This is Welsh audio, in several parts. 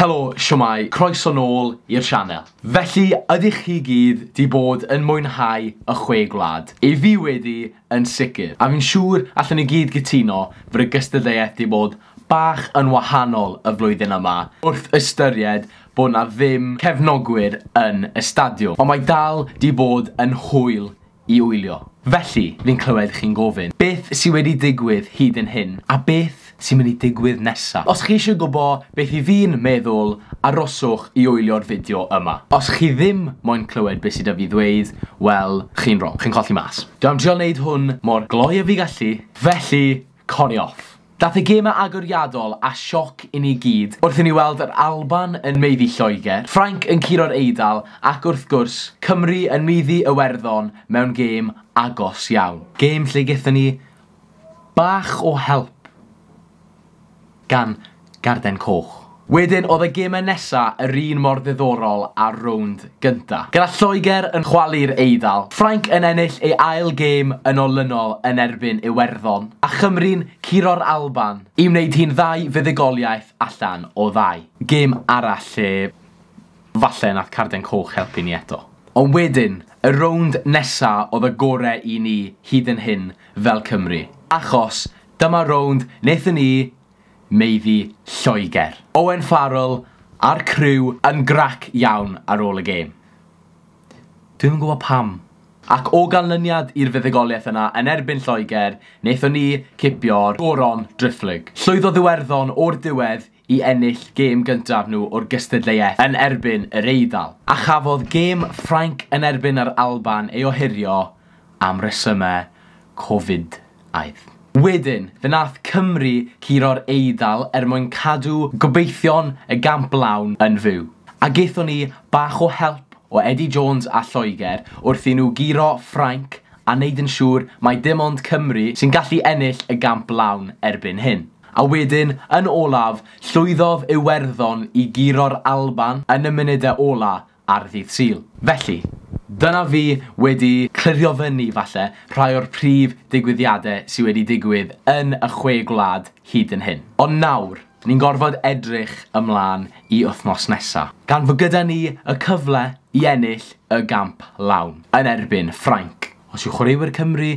Helo, siwmai, croeso nôl i'r sianel. Felly, ydych chi gyd 'di bod yn mwynhau y Chwe Gwlad? I fi wedi, yn sicr. A fi'n siŵr allwn ni gyd gytuno fod y gystadleuaeth 'di bod bach yn wahanol y flwyddyn yma, wrth ystyried bod 'na ddim cefnogwyr yn y stadiwm. Ond mae dal 'di bod yn hwyl i wylio. Felly, fi'n clywed chi'n gofyn, beth sy wedi digwydd hyd yn hyn, a beth sy'n mynd i digwydd nesa? Os chi eisiau gwybod beth i fi'n meddwl, aroswch i wylio'r fideo yma. Os chi ddim moyn clywed beth sydd 'da fi ddweud, wel, chi'n wrong, chi'n colli mas. Dwi am trio wneud hwn mor gloi a fi gallu, felly, cori off. Dath y gemau agoriadol a sioc i ni gyd wrth i ni weld yr Alban yn maeddu Lloegr, Ffrainc yn curo'r Eidal ac wrth gwrs Cymru yn maeddu Iwerddon mewn gêm agos iawn. Gêm lle gaethon ni bach o help gan garden coch. Wedyn oedd y gemau nesa yr un mor ddiddorol â'r rownd gynta. Gyda Lloegr yn chwalu'r Eidal, Ffrainc yn ennill ei ail gêm yn olynol yn erbyn Iwerddon, a Chymru'n curo'r Alban i wneud hi'n ddau fuddugoliaeth allan o ddau. Gêm arall lle falle nath carden coch helpu ni eto. Ond wedyn, y rownd nesa oedd y gore i ni hyd yn hyn fel Cymru. Achos dyma rownd wnaethon ni maeddu Lloegr. Owen Farrell a'r criw yn grac iawn ar ôl y gêm. Dwi'm yn gwybod pam. Ac o ganlyniad i'r fuddugoliaeth yna yn erbyn Lloegr, wnaethon ni cipio'r goron driphlyg. Llwyddodd Iwerddon o'r diwedd i ennill gêm gyntaf nhw o'r gystadleuaeth yn erbyn yr Eidal. A chafodd gêm Ffrainc yn erbyn yr Alban ei ohirio am resymau Covid-aidd. Wedyn, fe nath Cymru curo'r Eidal er mwyn cadw gobeithion y gamp lawn yn fyw. A gaethon ni bach o help o Eddie Jones a Lloegr wrth i nhw guro Ffrainc a wneud yn siŵr mai dim ond Cymru sy'n gallu ennill y gamp lawn erbyn hyn. A wedyn, yn olaf, llwyddodd Iwerddon i guro'r Alban yn y munudau ola ar ddydd Sul. Felly, dyna fi wedi clirio fyny falle rhai o'r prif digwyddiadau sydd wedi digwydd yn y Chwe Gwlad hyd yn hyn. Ond nawr, ni'n gorfod edrych ymlaen i wythnos nesa, gan fod gyda ni y cyfle i ennill y gamp lawn yn erbyn Ffrainc. Os yw chwaraewyr Cymru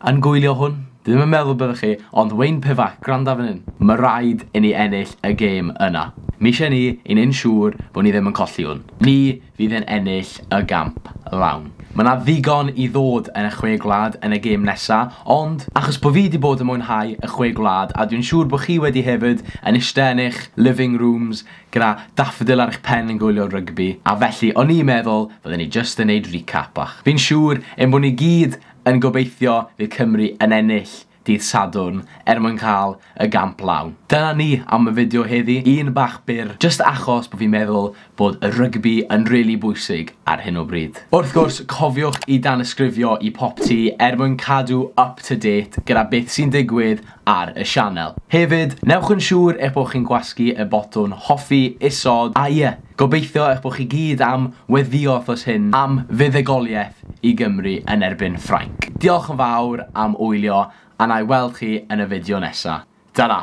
yn gwylio hwn, dwi ddim yn meddwl byddwch chi, ond Wayne Pivac, gwranda fan hyn. Mae rhaid i ni ennill y gêm yna. Mi eisiau ni i wneud yn siŵr bod ni ddim yn colli hwn. Ni fydd yn ennill y gamp lawn. Mae yna ddigon i ddod yn y Chwe Gwlad yn y gêm nesa, ond achos bod fi wedi bod yn mwynhau y Chwe Gwlad, a dwi'n siŵr bod chi wedi hefyd yn eistedd yn eich living rooms gyda daffodil ar eich pen yn gwylio rygbi, a felly o'n i'n meddwl fydden ni jyst yn neud recap bach. Fi'n siŵr ein bod ni gyd yn gobeithio fydd Cymru yn ennill dydd Sadwrn er mwyn cael y gamp lawn. Dyna ni am y fideo heddi, un bach byr, jyst achos bod fi'n meddwl bod y rygbi yn really bwysig ar hyn o bryd. Wrth gwrs, cofiwch i danysgrifio i Popty er mwyn cadw up to date gyda beth sy'n digwydd ar y sianel. Hefyd, newch yn siŵr eich bod chi'n gwasgu y botwm hoffi isod, a ie, gobeithio eich bod chi gyd am weddio wythnos hyn am fuddugoliaeth i Gymru yn erbyn Ffrainc. Diolch yn fawr am wylio, a na i weld chi yn y fideo nesa. Ta-ra!